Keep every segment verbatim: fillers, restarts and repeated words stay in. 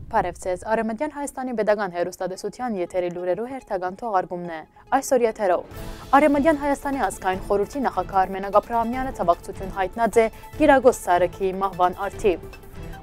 Բարեւ ձեզ։ Արեւմտեան Հայաստանի Պետական Հեռուստատեսութեան եթերի լուրերու հերթական թողարկումն է։ Այսօր եթերով։ Արեւմտեան Հայաստանի ազգային խորհրդի նախագահ Արմենակ Աբրահամեանը ցավակցութիւն յայտնած է Կիրակոս Սարքիի մահուան առթիւ։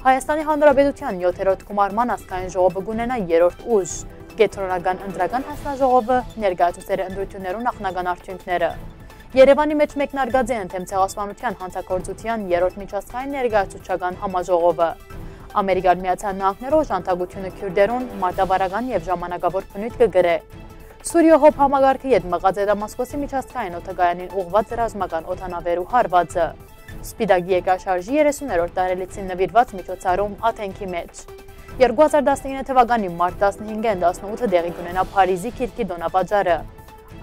Հայաստանի Հանրապետութեան յոթերորդ գումարման ազգային ժողովը կունենայ երրորդ ուժ։ Կեդրոնական ընտրական հանձնաժողովը ներկայացուցեր է ընտրութիւններու նախնական արդիւնքները։ Երեւանի մէջ մեկնարկած է ընդդէմ ցեղասպանութեան յանցագործութեան երրորդ միջազգային ներկայացուցչական համաժողովը։ Ամերիկան Միացյալ Նահանգներու օժանդակութիւնը քիւրտերուն մարտավարական եւ ժամանակաւոր բնոյթ կը կրէ։ Սուրիոյ Հոբ համակարգը յետ մղած է Դամասկոսի միջազգային օդակայանին ուղղուած ռազմական օդանաւերու հարուածը։ Սպիտակ երկրաշարժի երեսուներորդ տարելիցին նուիրուած միջոցառում Աթենքի մէջ։ Երկու հազար տասնինը թվականի մարտ տասնհինգէն տասնութ տեղի կունենայ Փարիզի Կիրկի տօնավաճառը։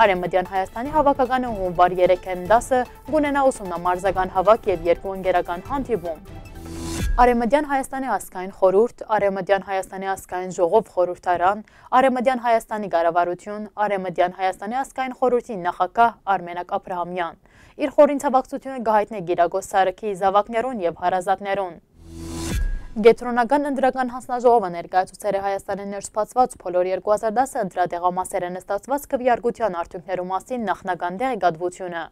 Արեւմտեան Հայաստանի հաւաքականը հունուար երեքէն տասը կունենայ ուսումնամարզական հաւաք եւ երկու ընկերական հանդիպում։ Արեւմտեան Հայաստանի ազգային խորհուրդ, Արեւմտեան Հայաստանի ազգային ժողով խորհրդարան, Արեւմտեան Հայաստանի կառավարութիւն, Արեւմտեան Հայաստանի ազգային խորհրդի նախագահ Արմենակ Աբրահամեան իր խորին ցավակցութիւնը կը յայտնէ Կիրակոս Սարքիի զաւակներուն եւ հարազատներուն։ Կեդրոնական ընտրական հանձնաժողովը ներկայացուցեր է Հայաստանի ներսպացուած բոլոր երկու հազար տասը ընտրատեղամասերէն ստացուած քվեարկութեան արդիւնքներու մասին նախնական տեղեկատվութիւնը։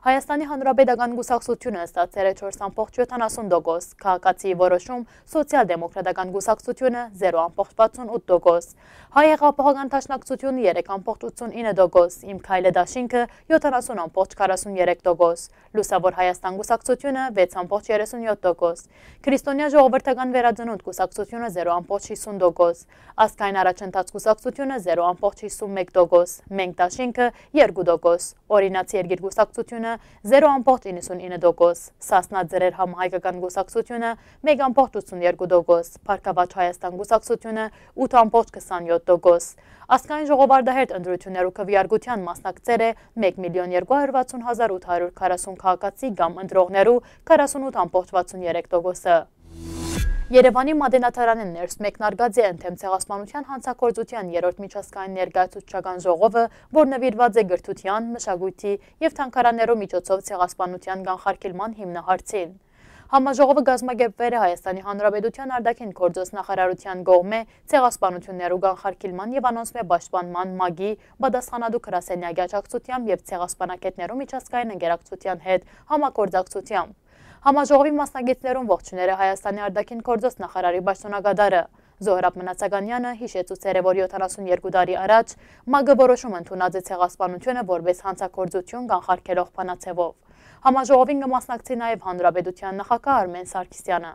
Հայաստանի Հանրապետական Կուսակցութիւնը ստացեր է չորս ամբողջ յոթանասուն տոկոս, Քաղաքացիի Որոշում, Սոցիալ-դեմոկրատական Կուսակցութիւնը՝ զերո ամբողջ վաթսուն ութ տոկոս, Հայ Հեղափոխական Դաշնակցութիւնը՝ երեք ամբողջ ութսուն ինը տոկոս, Իմ Քայլը Դաշինքը՝ յոթանասուն ամբողջ քառասուն երեք տոկոս, Լուսաւոր Հայաստան Կուսակցութիւնը՝ վեց ամբողջ երեսուն յոթ տոկոս, Քրիստոնեայ Ժողովրդական Վերածնունդ Կուսակցութիւնը՝ զերո ամբողջ յիսուն տոկոս, Ազգային Առաջընթաց Կուսակցութիւնը՝ զերո ամբողջ յիսուն մէկ տոկոս, Մենք Դաշինքը՝ երկու տոկոս, Օրինաց Երկիր Կուսակցութիւնը՝ զերո ամբողջ իննսուն ինը տոկոս, Սասնա Ծռեր Համահայկական Կուսակցութիւնը՝ մեկ ամբողջ ութսուն երկու տոկոս, Բարգաւաճ Հայաստան Կուսակցութիւնը՝ ութ ամբողջ քսանյոթ տոկոս։ Ազգային ժողովարդահերթ ընտրութիւններու քվեարկութեան մասնակցեր է մէկ միլիոն երկու հարյուր վաթսուն հազար ութ հարյուր քառասուն քաղաքացի կամ ընտրողներու քառասուն ութ ամբողջ վաթսուն երեք տոկոսը։ Երեւանի Մատենադարանէն ներս մեկնարկած է ընդդէմ ցեղասպանութեան յանցագործութեան երրորդ միջազգային ներկայացուցչական ժողովը, որ նուիրուած է կրթութեան, մշակոյթի եւ թանգարաններու միջոցով ցեղասպանութեան կանխարգելման հիմնահարցին։ Համաժողովը կազմակերպուեր է Հայաստանի Հանրապետութեան արտաքին գործոց նախարարութեան կողմէ ցեղասպանութիւններու կանխարգելման եւ անոնցմէ պաշտպանման մագի պատասխանատու գրասենյակի աջակցութեամբ եւ Ցեղասպանագէտներու միջազգային ընկերակցութեան հետ համագործակցութեամբ։ Համաժողովի մասնակիցներուն ողջուներ է Հայաստանի արտաքին գործոց նախարարի պաշտօնակատարը։ Զոհրաբ Մնացականեանը յիշեցուցեր է, որ յոթանասուն երկու տարի առաջ մագը որոշում ընդունած է ցեղասպանութիւնը որպէս յանցագործութիւն կանխարգելող բանաձեւով։ Համաժողովին կը մասնակցի նաեւ Հանրապետութեան նախագահ Արմեն Սարգսեանը։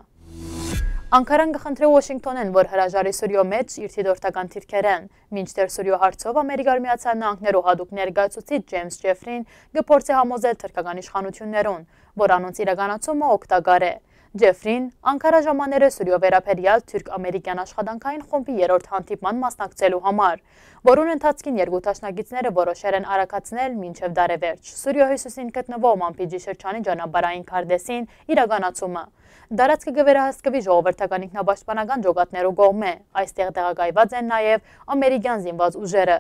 Անկարան կը խնդրէ Ուոշինկթոնէն, որ հրաժարի Սուրիոյ մէջ իր դիտորդական դիրքերէն, մինչդեռ Սուրիոյ հարցով Ամերիկայի Միացյալ Նահանգներու յատուկ ներկայացուցիչ Ջեյմս Ջեֆրին կը փորձէ համոզել թրքական իշխանութիւններուն, որ անոնց իրականացումը օգտակար է։ Ջեֆրին Անկարա ժամաներ է Սուրիոյ վերաբերեալ թուրք-ամերիկյան աշխատանքային խումբի երրորդ հանդիպման մասնակցելու համար, որուն ընթացքին երկու դաշնակիցները որոշեր են արագացնել մինչեւ տարեվերջ Սուրիոյ հիւսիսին գտնուող Մամպիջի շրջանի ճանապարհային քարտէսին իրականացումը։ Տարածքը կը վերահսկուի ժողովրդական ինքնապաշտպանական ջոկատներու կողմէ։ Այստեղ տեղակայուած են նաեւ ամերիկյան զինուած ուժերը։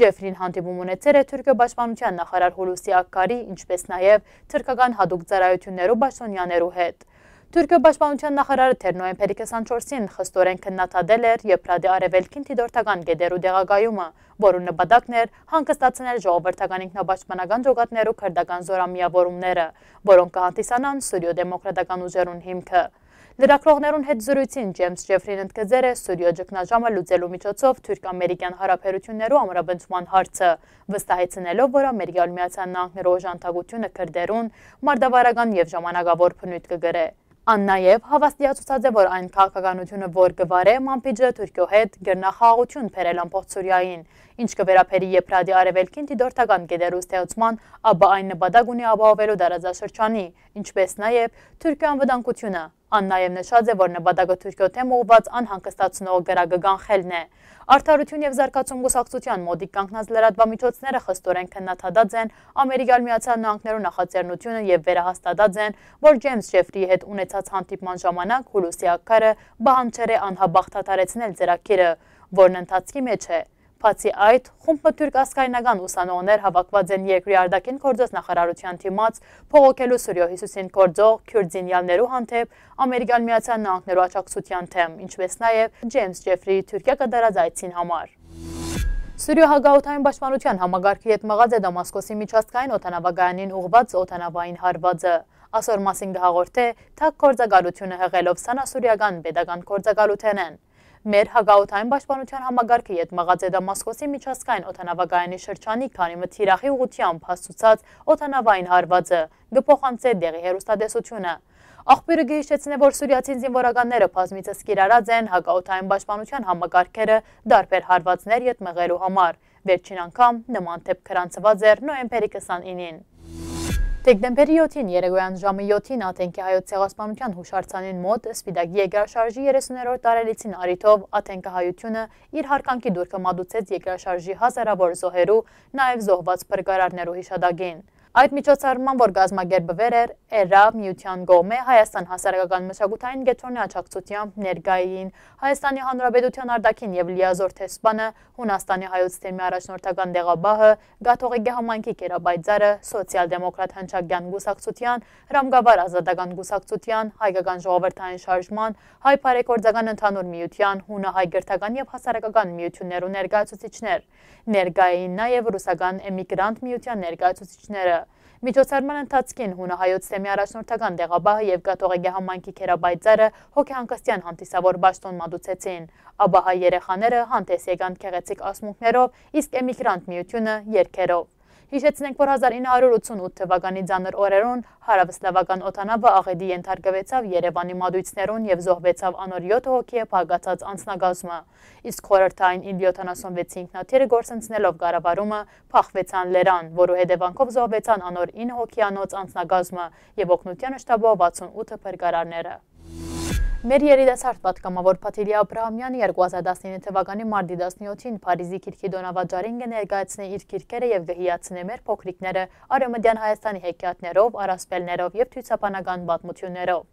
Ջեֆրին հանդիպում ունեցեր է Թուրքիոյ պաշտպանութեան նախարար Հուլուսի Ակքարի, ինչպէս նաեւ թրքական յատուկ ծառայութիւններու պաշտօնեաներու հետ։ Թուրքիոյ պաշտպանութեան նախարարը դեռ նոյեմբերի քսանչորսին խստորեն քննադատել էր Եփրատի արեւելքին դիտորդական կետերու տեղակայումը, որուն նպատակն էր հանգստացնել ժողովրդական ինքնապաշտպանական ջոկատներու քրտական զօրամիաւորումները, որոնք կը հանդիսանան Սուրիոյ դեմոկրատական ուժերուն հիմքը։ Լրագրողներուն հետ զրոյցին Ջեյմս Ջեֆրին ընդգծեր է Սուրիոյ ճգնաժամը լուծելու միջոցով թուրք-ամերիկյան հարաբերութիւններու ամրապնդման հարցը, վստահեցնելով, որ Ամերիկայի Միացյալ Նահանգներու օժանդակութիւնը քրտերուն մարտավարական եւ ժամանակաւոր բնոյթ կը կրէ։ Ան նաեւ հաւաստիացուցած է, որ այն քաղաքականութիւնը, որ կը վարէ Մամպիջը Թուրքիոյ հետ, կրնայ խաղաղութիւն բերել ամբողջ Սուրիային, ինչ կը վերաբերի Եփրատի արեւելքին դիտորդական կետերու ստեղծման, ապա այն նպատակ ունի ապահովելու տարածաշրջանի, ինչպէս նաեւ Թուրքիոյ անվտանգութիւնը։ Ան նաեւ նշած է, որ նպատակը Թուրքիոյ դէմ ուղղուած անհանգստացնող կրակը կանխելն է։ Արդարութիւն եւ զարգացում կուսակցութեան մօտիկ կանգնած լրատուամիջոցները խստորեն քննադատած են Ամերիկայի Միացյալ Նահանգներու նախաձեռնութիւնը եւ վերահաստատած են, որ Ջեյմս Ջեֆրիի հետ ունեցած հանդիպման ժամանակ Հուլուսի Ակքարը պահանջեր է անհապաղ դադարեցնել ծրագիրը, որն ընթացքի մէջ է։ Բացի այդ, խումբ մը թուրք ազգայնական ուսանողներ հաւաքուած են երկրի արտաքին գործոց նախարարութեան դիմաց՝ բողոքելու Սուրիոյ հիւսիսին գործող քիւրտ զինեալներու հանդէպ Ամերիկան Միացեալ Նահանգներու աջակցութեան դէմ, ինչպէս նաեւ Ջեյմս Ջեֆրիի Թուրքիա կատարած այցին համար։ Սուրիոյ հակաօդային պաշտպանութեան համակարգը յետ մղած է Դամասկոսի միջազգային օդանաւակայանին ուղղուած օդանաւային հարուածը։ Ասոր մասին կը հաղորդէ թագ գործակալութիւնը, հղելով սանասուրիական պետական գործակալութենէն։ Մեր հակաօդային պաշտպանութեան համակարգը յետ մղած է Դամասկոսի միջազգային օդանաւակայանի շրջանի քանի մը թիրախի ուղղութեամբ հասցուցած օդանաւային հարուածը, կը փոխանցէ տեղի հեռուստատեսութիւնը։ Աղբիւրը կը յիշեցնէ, որ սուրիացի զինուորականները բազմիցս կիրառած են հակաօդային պաշտպանութեան համակարգերը տարբեր հարուածներ յետ մղելու համար։ Վերջին անգամ նման դէպք գրանցուած էր նոյեմբերի քսանինին։ Դեկտեմբերի յոթին երեկոյան ժամը յոթին Աթենքի հայոց ցեղասպանութեան յուշարձանին մօտ Սպիտակի երկրաշարժի երեսուներորդ տարելիցին առիթով Աթենքը հայութիւնը իր յարգանքի տուրքը մատուցեց երկրաշարժի հազարաւոր զոհերու, նաեւ զոհուած փրկարարներու յիշատակին։ Այդ միջոցառման, որ կազմակերպուեր էր Էրրա միութեան կողմէ Հայաստան հասարակական մշակութային կեդրոնի աջակցութեամբ, ներկայ էին Հայաստանի Հանրապետութեան արտաքին եւ լիազոր դեսպանը, Յունաստանի հայոց թեմի առաջնորդական տեղապահը, Կաթողիկէ համայնքի գերապայծառը, Սոցիալ-դեմոկրատ հնչակեան կուսակցութեան, Ռամկավար ազատական կուսակցութեան, Հայկական ժողովրդային շարժման, Հայ բարեգործական ընդհանուր միութեան, Յունահայ կրթական եւ հասարակական միութիւններու ներկայացուցիչներ։ Ներկայ էին նաեւ ռուսական էմիգրանտ միութեան ներկայացուցիչները։ Միջոցառման ընթացքին Յունահայոց թեմի առաջնորդական տեղապահը եւ Կաթողիկէ համայնքի գերապայծառը հոգեհանգստեան հանդիսաւոր պաշտօն մատուցեցին, ապա հայ երեխաները հանդէս եկան գեղեցիկ ասմունքներով, իսկ էմիգրանտ միութիւնը՝ երգերով։ Յիշեցնենք, որ հազար ինը հարիւր ութսուն ութ թվականի ծանր օրերուն հարաւսլաւական օդանաւը աղէտի ենթարկուեցաւ Երեւանի մատոյցներուն եւ զոհուեցաւ անոր եօթ հոգիը բաղկացած անձնակազմը, իսկ խորհրդային իլ յոթանասունվեցի ինքնաթիռը կորսնցնելով կառավարումը, փախուեցան լերան, որու հետեւանքով զոհուեցան անոր ինը հոգիանոց անձնակազմը եւ օգնութեան շտաբով վաթսուն ութ փրկարարները։ Մեր երիտասարդ պատգամաւոր Փաթիլի Աբրահամեանը երկու հազար տասնինը թվականի մարտի տասնյոթին Փարիզի գիրքի տօնավաճառին կը ներկայացնէ իր գիրքերը եւ կը հիացնէ մեր փոքրիկները Արեւմտեան Հայաստանի հեքիաթներով, առասպելներով եւ ցուցաբանական պատմութիւններով։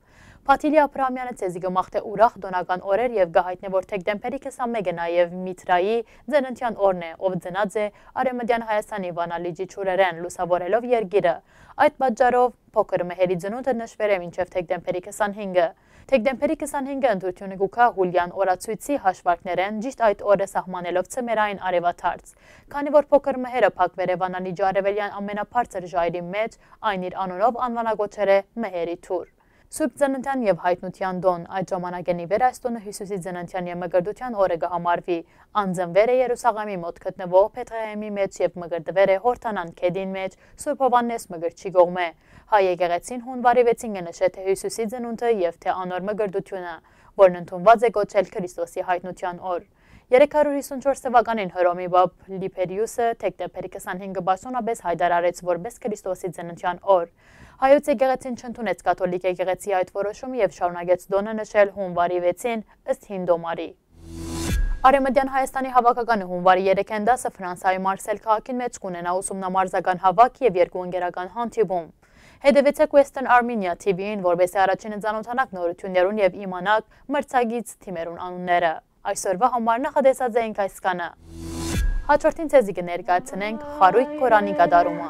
Փաթիլի Աբրահամեանը ձեզի կը մաղթէ ուրախ տօնական օրեր եւ կը յայտնէ, որ դեկտեմբերի քսանմէկը նաեւ Միթրայի ծննդեան օրն է, ով ծնած է Արեւմտեան Հայաստանի Վանա լիճի ջուրերէն, լուսաւորելով երկիրը։ Այդ պատճառով փոքր Մհերի ծնունդը նշուեր է մինչեւ դեկտեմբերի քսանհինգը։ Դեկտեմբերի քսանհինգը ընտրութիւնը կու գայ Յուլիան օրացոյցի հաշուարկներէն, ճիշդ այդ օրը սահմանելով ձմեռային արեւադարձ։ Քանի որ փոքր Մհերը փակուեր է Վանա լիճի արեւելեան ամենաբարձր ժայռի մէջ, այն իր անունով անուանակոչեր է Մհերի դուռ։ Սուրբ Ծննդեան եւ Յայտնութեան տօն։ Այդ ժամանակէն ի վեր այս տօնը Յիսուսի ծննդեան եւ մկրտութեան օրը կը համարուի։ Ան ծնուեր է Երուսաղէմի մօտ գտնուող Բեթղեհէմի մէջ եւ մկրտուեր է Յորդանան գետին մէջ, Սուրբ Յովհաննէս Մկրտչի կողմէ։ Հայ եկեղեցին յունուարի վեցին կը նշէ թէ Յիսուսի ծնունդը եւ թէ անոր մկրտութիւնը, որն ընդունուած է կոչել Քրիստոսի Յայտնութեան օր։ Երեք հարիւր հիսուն չորս թվականին Հռոմի պապ Լիբերիուսը դեկտեմբերի քսանհինգը պաշտօնապէս յայտարարեց որպէս Քրիստոսի ծննդեան օր։ Հայոց եկեղեցին չընդունեց կաթոլիկ եկեղեցի այդ որոշումը եւ շարունակեց տօնը նշել յունուարի վեցին ըստ հին տոմարի։ Արեւմտեան Հայաստանի հաւաքականը յունուարի երեքին տասը Ֆրանսայի Մարսել քաղաքին մէջ կունենայ ուսումնամարզական հաւաք եւ երկու ընկերական հանդիպում։ Հետեւեցէք Western Armenia T V-ին, որպէս զի առաջինը ծանօթանաք նորութիւններուն եւ իմանաք մրցակից թիմերուն անունները։ Այսօրուա համար նախատեսած էինք այսքանը։ Հաջորդին ձեզի կը ներկայացնենք Խարոյկ Կորանի կատարումը։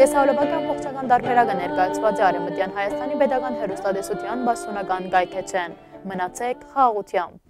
Տեսահոլովակը ամբողջական տարբերակը ներկայացուած է Արևմտյան Հայաստանի պետական հեռուստատեսության պաշտօնական կայքէջէն։ Մնացեք խաղաղութեամբ։